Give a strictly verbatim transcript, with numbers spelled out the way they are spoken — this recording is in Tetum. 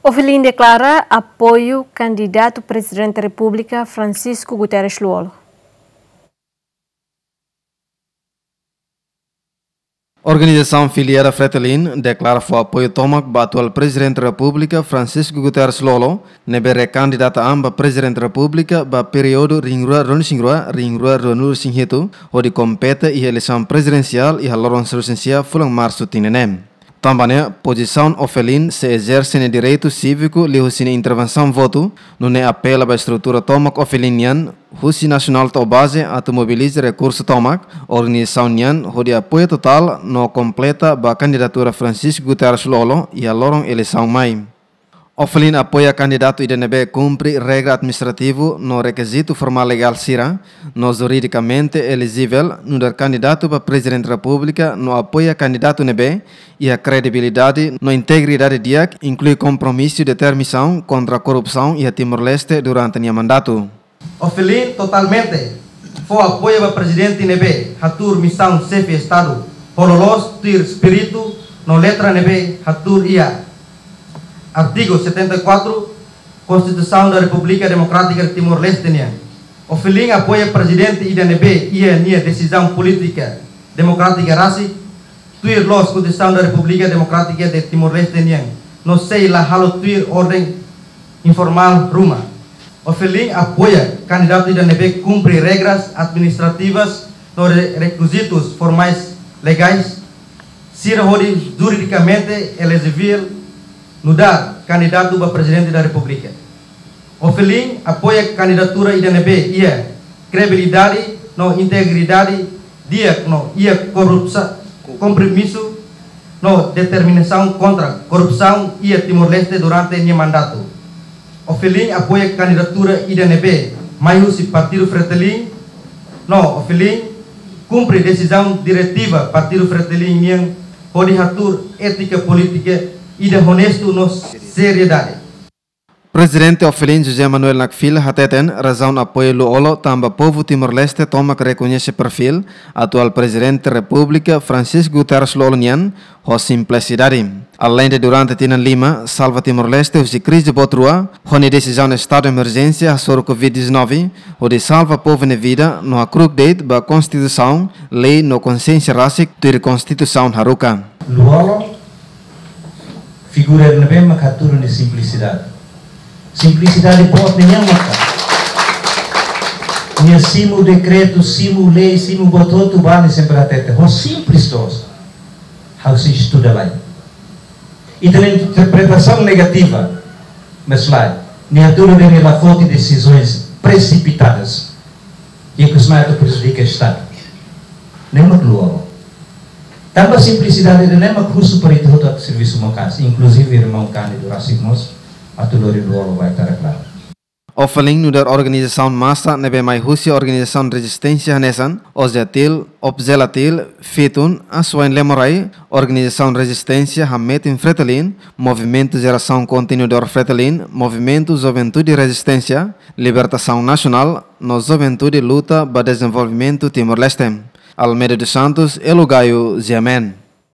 Ofelin deklara apoiu kandidatu Prezidente Repúblika Francisco Guterres Lú-Olo. Organizasaun filiada Fretilin deklara fó apoiu tomak ba atuál Prezidente Repúblika Francisco Guterres Lú-Olo, ne'ebé rekandidata an ba Prezidente Repúblika ba períodu rihun rua ruanulu-resin-rua, rihun rua ruanulu-resin-hitu, hodi kompete iha eleisaun prezidensiál iha loron sanulu-resin-sia fulan Marsu tinan ne'e. Tanba ne'e, pozisaun Ofelin sei ezerse nia direitu síviku liuhusi nia intervensaun votu, nune'e apela ba estrutura tomak Ofelin nian, husi nasionál to'o baze atu mobiliza rekursu tomak, organizasaun nian hodi apoia totál no kompleta ba kandidatura Francisco Guterres Lú-Olo iha loron eleisaun mai. Ofelin apoia kandidatu ida ne'ebé kumpre regra administrativu no rekizitu formál legál sira, no juridikamente elejivel nu'udar kandidatu ba Prezidente Repúblika no apoia kandidatu ne'ebé iha kredibilidade no integridade di'ak, inklui kompromisu determinasaun kontra korrupsaun iha Timor-Leste durante nia mandatu. Ofelin totalmente fó apoiu ba prezidente ne'ebé hatuur misaun xefe Estadu ho loloos tuir espíritu no letra ne'ebé hatuur iha artigu setenta e quatro Constituição da República Democrática de Timor-Leste nian. Ofelin apoia prezidente ida ne'ebé iha nia desizaun polítika demokrátika rasik, tuir loos Konstituisaun da Repúblika Demokrátika de Timor-Leste nian, no sei la halo tuir orden informál ruma. Ofelin apoia kandidatu ida ne'ebé kumpre regras administrativas no re-, rekizitus formais legais sira hodi juridikamente elejivel nu'udar kandidatu ba Prezidente da Repúblika. Ofelin apoia kandidatura ida ne'ebé iha kredibilidade no integridade di'ak no iha korrupsa-, kompromisu no determinasaun kontra korrupsaun iha Timor-Leste durante nia mandatu. Ofelin apoia kandidatura ida ne'ebé mai husi Partidu Fretilin, no Ofelin kumpre desizaun diretiva Partidu Fretilin nian hodi hatuur étika polítika ida onestu no seriedade. Prezidente Ofelin José Manuel Nakfil hateten razaun apoia Lú-Olo tanba povu Timor-Leste tomak rekoñese perfíl atuál Prezidente Repúblika Francisco Guterres Lú-Olo nian ho simplisidade. Aleinde durante tinan lima salva Timor-Leste husi krize boot rua, ho nia desizaun estadu de emerjénsia hasoru covid dezanove, hodi salva povu nia vida no hakru'uk de'it ba konstituisaun, lei no konsiénsia rasik tuir konstituisaun haruka. Lú-Olo figura ne'ebé mak hatudu nia simplisidade. Simplisidade boot nian maka nia simu dekretu, simu lei, simu buat hotu, ba nia sempre hatete ho simples loos. Ha'u sei estuda lai. Ita-nia interpretasaun negativa, mas lae, nia hatudu de'it nia la foti desizaun presipitadu. Ikus mai atu prejudika Estadu. Ne'e mak Lú-Olo. Tanba simplisidade ida-ne'e mak husu para ita hotu atu servisu maka'as, inkluzive irmaun Cândido rasik mós atu lori Lú-Olo ba ita deklara. Ofelin nu'udar organizasaun masa ne'ebé mai husi organizasaun rezisténsia hanesan, OJEATIL, OPJELATIL, FITUN, Asuwain Lemorai, organizasaun rezisténsia hametin Fretilin, Movimentu Jerasaun Kontinuadór Fretilin, Movimentu Juventude Rezisténsia, Libertasaun Nasionál, no Juventude Luta ba Dezenvolvimentu Timor-Leste. Almeida dos Santos, Elo Gaio, G M N.